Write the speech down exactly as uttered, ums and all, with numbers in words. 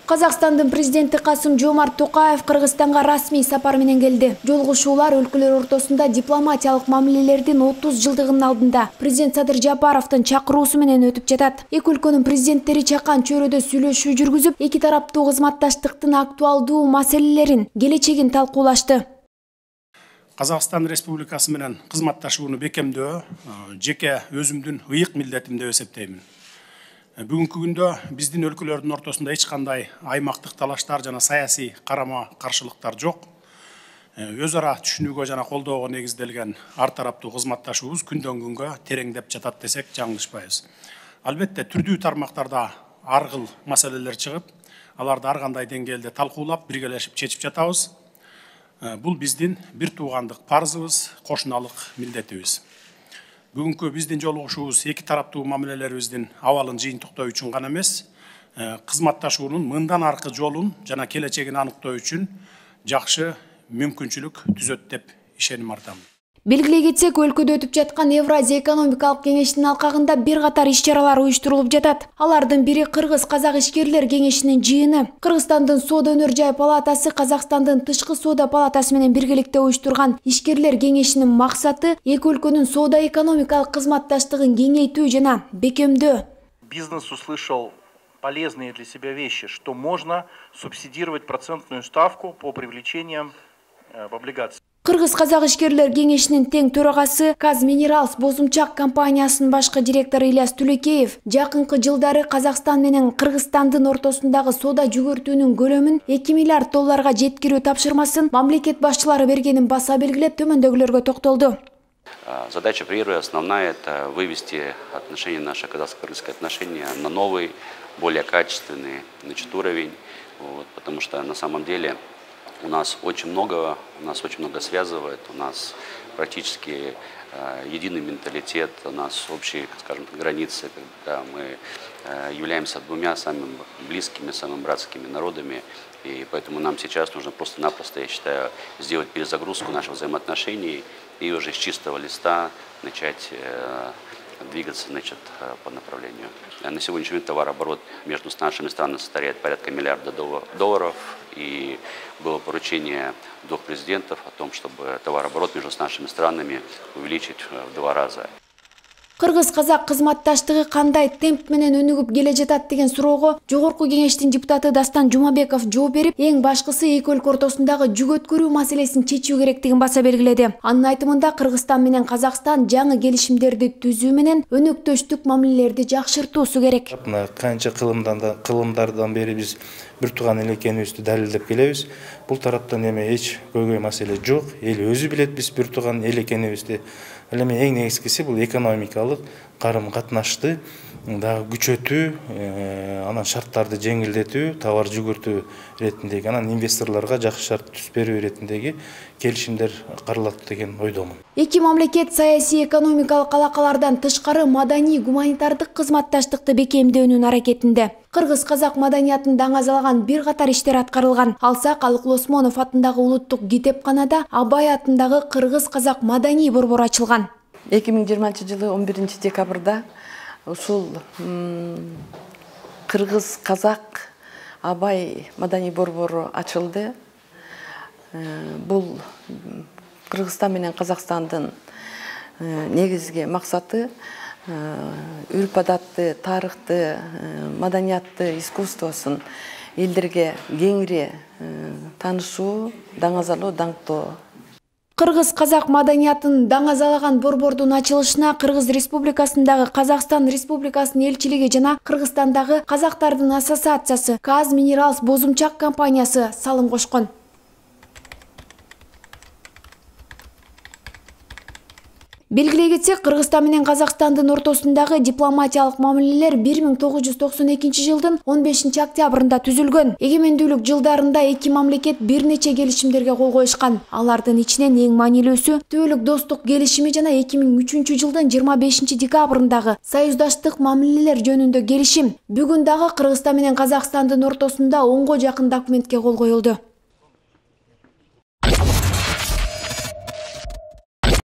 Казакстандын президенти Касым-Жомарт Токаев Кыргызстанга расмий сапар менен келди. Жолугушуулар өлкөлөр ортосунда дипломатиялык мамилелердин отуз жылдыгынын алдында президент Садыр Жапаровдун чакыруусу менен өтүп жатат. Эки өлкөнүн президенттери чакан чөйрөдө сүйлөшүү жүргүзүп, эки тараптуу кызматташтыктын актуалдуу маселелерин, келечегин талкуулашты. Казакстан Республикасы менен кызматташууну бекемдөө жеке өзүмдүн ыйык милдетим деп эсептеймин. Бүгүнкү күндө биздин өлкөлөрдүн ортосунда эч кандай аймактык талаштар жана саясий карама каршылыктар жок. Өз ара түшүнүүгө жана колдоого негизделген ар тараптуу кызматташуубуз күндөн күнгө тереңдеп жатат десек жаңылышпайбыз. Албетте түрдүү тармактарда ар кыл маселелер чыгып, аларды ар кандай деңгээлде талкуулап, биргелешип чечип жатабыз. Бул биздин бир туугандык парзыбыз, кошуналык милдетибиз. Бүгүнкү биздин жолугушуубуз эки тараптуу мамилелерибиздин абалын жыйынтыктоо үчүн гана эмес, кызматташуунун мындан аркы жолун жана келечегин аныктоо үчүн жакшы мүмкүнчүлүк түзөт деп ишеним артам. Белгилей кетсек, өлкөдө өтүп жаткан Евразия экономикалык кеңештин алкагында бир катар иш-чаралар уюштурулуп жатат. Алардын бири Кыргыз-Казак ишкерлер кеңешинин жыйыны. Кыргызстандын Соода өнөр жай палатасы Казакстандын Тышкы соода палатасы менен биргеликте уюштурган ишкерлер кеңешинин максаты эки өлкөнүн соода экономикалык кызматташтыгын кеңейтүү жана бекемдөө. Бизнес услышал полезные для себя вещи, что можно субсидировать процентную ставку по привлечениям в облигации. Кыргыз-Казак ишкерлер кеңешинин тең төрагасы Казминералс Бозумчак компаниясынын башкы директору Ильяс Түлекеев жакынкы жылдары Казакстан менен Кыргызстандын ортосундагы соода жүгөртүүнүн көлөмүн эки миллиард долларга жеткирүү тапшырмасын мамлекет башчылары бергенин баса белгилеп, төмөндөгүлөргө токтолду. Задача первая, основная, это вывести отношения, наши казахско-кыргызские отношения на новый, более качественный, значит, уровень, вот, потому что на самом деле у нас очень много, у нас очень много связывает, у нас практически э, единый менталитет, у нас общие, скажем так, границы, когда мы э, являемся двумя самыми близкими, самыми братскими народами, и поэтому нам сейчас нужно просто-напросто, я считаю, сделать перезагрузку наших взаимоотношений и уже с чистого листа начать э, двигаться, значит, по направлению. На сегодняшний день товарооборот между нашими странами составляет порядка миллиарда долларов, и было поручение двух президентов о том, чтобы товарооборот между нашими странами увеличить в два раза. Кыргыз-Казак кызматташтыгы кандай темп менен өнүгүп келе жатат деген суроого Жогорку кеңештин депутаты Дастан Жумабеков жооп берип, эң башкысы эки өлкө ортосундагы жүк өткөрүү маселесин чечүү керектигин баса белгиледи. Анын айтымында Кыргызстан менен Казакстан жаңы келишимдерди түзүү менен өнөктөштүк мамилелерди жакшыртуусу керек. Канча кылымдардан бери биз бир тууган эл экенибизди далилдеп келебиз. Бул тараптан эме эч көйгөй маселе жок. Эл өзү билет биз бир тууган эл экенибизди. Ал эми эң негизгиси бул экономикалык карым катнашты дагы күчөтүү, анан шарттарды жеңилдетүү, товар жүгөртүү иретиндеги, анан инвесторлорго жакшы шарт түзүп берүү иретиндеги келишимдер каралат деген ойдомун. Эки мамлекет саясий экономикалык алакалардан тышкары маданий гуманитардык кызматташтыкты бекемдөөнүн аракетинде. Кыргыз-Казак маданиятын даңазалаган бир катар иштер аткарылган. Алсак Алык Осмонов атындагы улуттук китепканада Абай атындагы Кыргыз-Казак маданий борбору ачылган. эки миң жыйырманчы жылы он биринчи декабрда ушул Кыргыз-Казак Абай маданий борбору ачылды. Бул Кыргызстан менен Казакстандын негизги максаты үрп-адатты, тарыхты, маданиятты, искусствосун элдерге кеңири таанышуу, даңазалоо, даңктоо. Кыргыз-Казак маданиятын даңазалаган борбордун ачылышына Кыргыз Республикасындагы Казакстан Республикасынын элчилиги жана Кыргызстандагы казактардын ассоциациясы Казминералс Бозумчак компаниясы салым кошкон. Белгилей кетсек, Кыргызстан менен Казакстандын ортосундагы дипломатиялык мамилелер бир миң тогуз жүз токсон экинчи жылдын он бешинчи октябрында түзүлгөн. Эгемендүүлүк жылдарында эки мамлекет бир нече келишимдерге кол коюшкан. Алардын ичинен эң маанилүүсү Түбөлүк достук келишими жана эки миң үчүнчү жылдын жыйырма бешинчи декабрындагы союздаштык мамилелер жөнүндө келишим. Бүгүн дагы Кыргызстан менен Казакстандын ортосунда онго жакын документке кол коюлду.